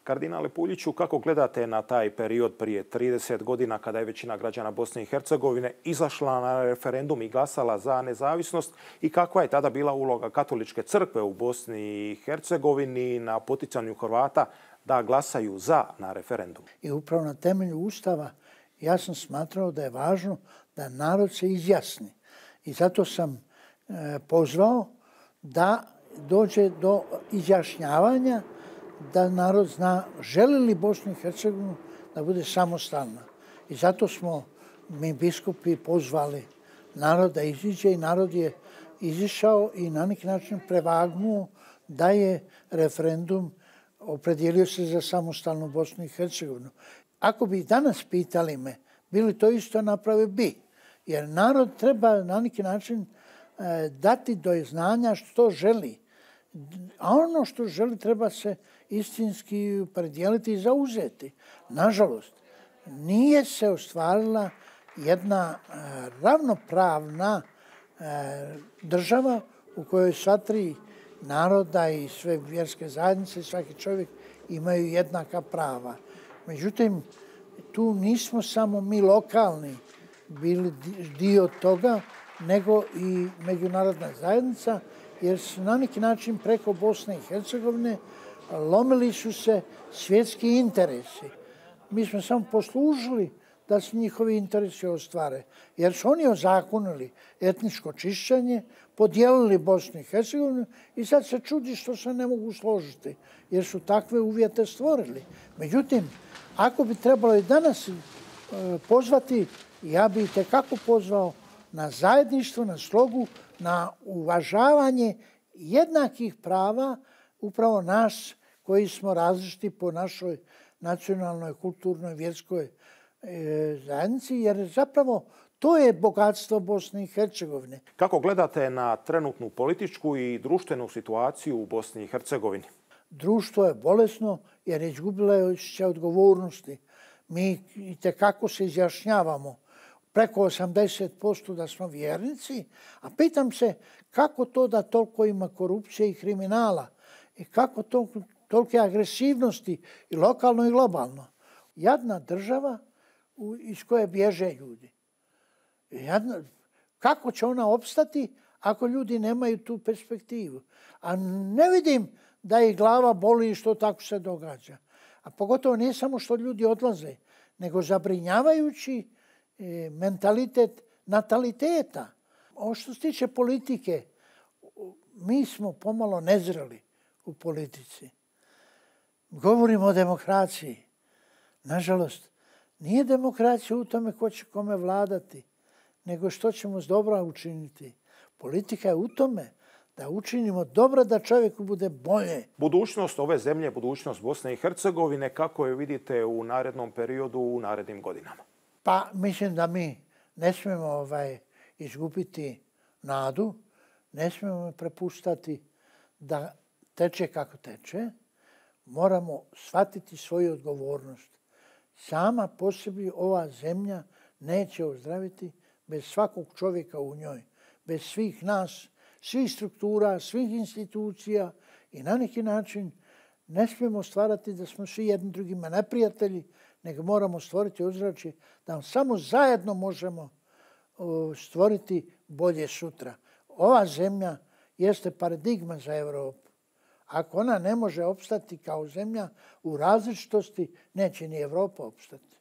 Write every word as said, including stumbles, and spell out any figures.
Kardinale Puljiću, kako gledate na taj period prije trideset godina kada je većina građana Bosne i Hercegovine izašla na referendum i glasala za nezavisnost i kakva je tada bila uloga Katoličke crkve u Bosni i Hercegovini na poticanju Hrvata da glasaju za na referendum? I upravo na temelju Ustava ja sam smatrao da je važno da narod se izjasni. I zato sam e, pozvao da dođe do izjašnjavanja, da narod zna želi li Bosnu i Hercegovinu da bude samostalna. I zato smo mi biskupi pozvali narod da iziđe i narod je izišao i na neki način prevagnuo da je referendum opredijelio se za samostalnu Bosnu i Hercegovinu. Ako bi danas pitali me, bili to isto napravio bi. Jer narod treba na neki način e, dati do znanja što želi. A ono što želi treba se istinski opredijeliti i zauzeti. Nažalost, nije se ostvarila jedna e, ravnopravna e, država u kojoj sva tri naroda i sve vjerske zajednice i svaki čovjek imaju jednaka prava. Međutim, tu nismo samo mi lokalni bili dio toga, nego i međunarodna zajednica, jer su na neki način preko Bosne i Hercegovine lomili su se svjetski interesi. Mi smo samo poslužili da se njihovi interesi ostvare, jer su oni ozakonili etničko čišćenje, podijelili Bosnu i Hercegovinu i sad se čudi što se ne mogu složiti, jer su takve uvjete stvorili. Međutim, ako bi trebalo i danas pozvati, ja bi itekako pozvao na zajedništvo, na slogu, na uvažavanje jednakih prava upravo nas koji smo različiti po našoj nacionalnoj, kulturnoj, vjerskoj zajednici, jer zapravo to je bogatstvo Bosne i Hercegovine. Kako gledate na trenutnu političku i društvenu situaciju u Bosni i Hercegovini? Društvo je bolesno jer je izgubilo osjećaj odgovornosti. Mi itekako se izjašnjavamo preko osamdeset posto da smo vjernici, a pitam se kako to da toliko ima korupcije i kriminala i kako to, tolike agresivnosti i lokalno i globalno. Jadna država iz koje bježe ljudi. Jadna, kako će ona opstati ako ljudi nemaju tu perspektivu? A ne vidim da ih glava boli i što tako se događa. A pogotovo nije samo što ljudi odlaze, nego zabrinjavajući mentalitet nataliteta. Ovo što se tiče politike, mi smo pomalo nezreli u politici. Govorimo o demokraciji. Nažalost, nije demokracija u tome ko će kome vladati, nego što ćemo s dobra učiniti. Politika je u tome da učinimo dobro da čovjeku bude bolje. Budućnost ove zemlje, budućnost Bosne i Hercegovine, kako je vidite u narednom periodu, u narednim godinama? Pa mislim da mi ne smijemo ovaj, izgubiti nadu, ne smijemo prepuštati da teče kako teče. Moramo shvatiti svoju odgovornost. Sama po sebi ova zemlja neće ozdraviti bez svakog čovjeka u njoj, bez svih nas, svih struktura, svih institucija i na neki način ne smijemo stvarati da smo svi jedni drugima neprijatelji, nego moramo stvoriti ozračje da samo zajedno možemo stvoriti bolje sutra. Ova zemlja jeste paradigma za Europu. Ako ona ne može opstati kao zemlja u različitosti, neće ni Europa opstati.